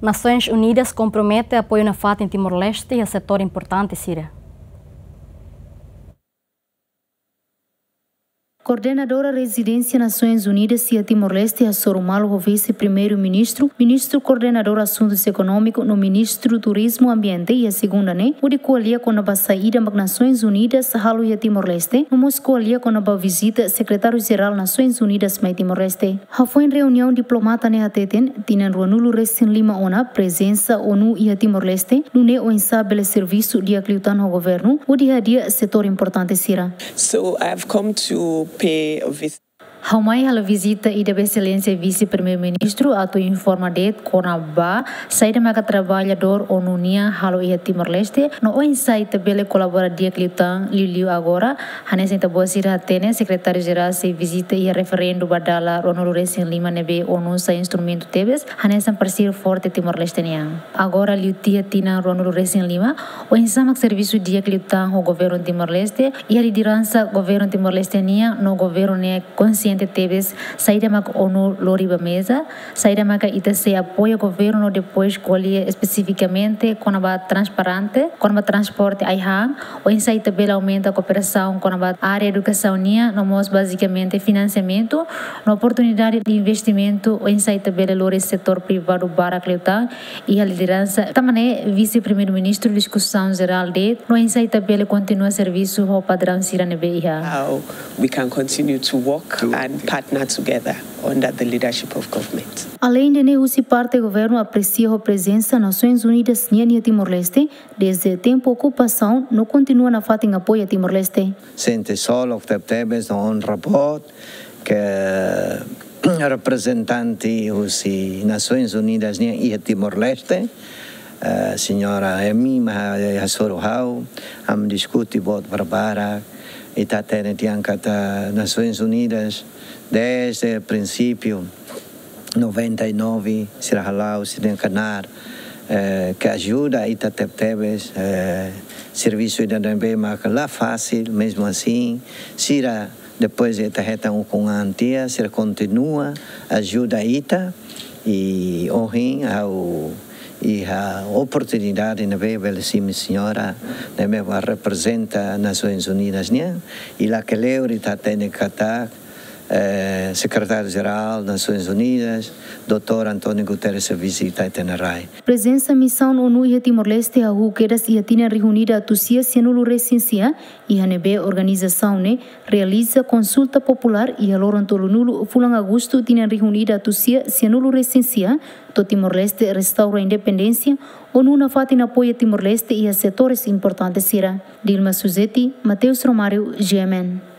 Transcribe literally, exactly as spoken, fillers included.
Nasoins Unidas kompromete apoiu nafatin Timor-Leste iha setór importante sira. Koordenadora Rezidénsia Nasoins Unidas iha Timor-Leste hasoru malu ho Vise-Primeiru-Ministru, Ministru Koordenadór Asuntus Ekonómiku no Ministru Turizmu Ambiente iha segunda ne'e, hodi ko'alia kona-ba saida mak Nasoins Unidas halo iha Timor-Leste, no mós ko'alia kona-ba vizita Sekretáriu Jerál Nasoins Unidas mai Timor-Leste. Hafoin reuniaun, diplomata ne'e hateten, tinan ruanulu-resin-lima ona prezensa ONU iha Timor-Leste, nune'e oinsá bele servisu di'ak liután ho governu, hodi hadi'a setór importante sira. So I've come to pay a visit. Ha'u mai halo vizita ida ba Exelénsia Vise-Primeiru-Ministru atu informa de'it kona-ba saida maka traballadór ONU nian halo iha Timor-Leste, no oinsá ita bele kolabora di'ak liután, liuliu agora, hanesan ita-boot sira hatene, Sekretáriu Jerál sei vizita iha referendu ba dala ruanulu-resin-lima ne'ebé ONU sai instrumentu tebes, hanesan parseiru forte Timor-Leste nian. Agora liu tiha tinan ruanulu-resin-lima, oinsá mak servisu di'ak liután ho governu Timor-Leste, iha lideransa governu Timor-Leste nian, no governu ne'e konsiente tebes saida mak ONU lori ba meza, saida maka ita sei apoia governu no depois ko'alia espesifikamente kona-ba transparente, kona-ba transporte ai-han, oinsá ita bele aumenta kooperasaun kona-ba área edukasaun nian, no mós bazikamente finansiamentu, no oportunidade de investimentu, oinsá ita bele lori setór privadu barak liután iha lideransa. Tanba ne'e Vise-Primeiru-Ministru diskusaun jerál de'it, no oinsá ita bele kontinua servisu ho padraun sira ne'ebé iha. How we can continue to work and partner together under the leadership of government. Aleinde ne'e, husi parte governu apresia ho prezensa Nasoins Unidas nian iha Timor-Leste, dezde tempu okupasaun, no kontinua nafatin apoia Timor-Leste. Sente solok tebetebes no onra boot ke reprezentante husi Nasoins Unidas nian iha Timor-Leste, eh, señora Emi mak hasoru ha'u, ami diskute boot barbarak, ita hatene tiha katak Nasoins Unidas dezde prinsípiu noventa e nove, sira hala'o, sira knaar, eh, ke ajuda ita tebetebes, eh, servisu ida ne'ebé maka la fasil, mezmu asin, sira depois ita hetan ukun an tiha, sira kontinua ajuda ita, i ohin ha'u iha oportunidade ne'ebé bele simu señora ne'ebé mak reprezenta Nasoins Unidas nian, i lakleur ita hatene katak, eh, Sekretáriu Jerál Nasoins Unidas, doutór António Guterres, vizita ita-nia rai. Prezensa misaun ONU iha Timor-Leste hahú kedas iha tinan rihun ida atus sia sianulu-resin-sia, iha ne'ebé organizasaun ne'e realiza konsulta populár iha loron tolunulu fulan Agostu tinan rihun ida atus sia sianulu-resin-sia, to'o Timor-Leste restaura independénsia, ONU nafatin apoia Timor-Leste iha setores importante sira. Dilma Suzeti, Mateus Romário, G M N.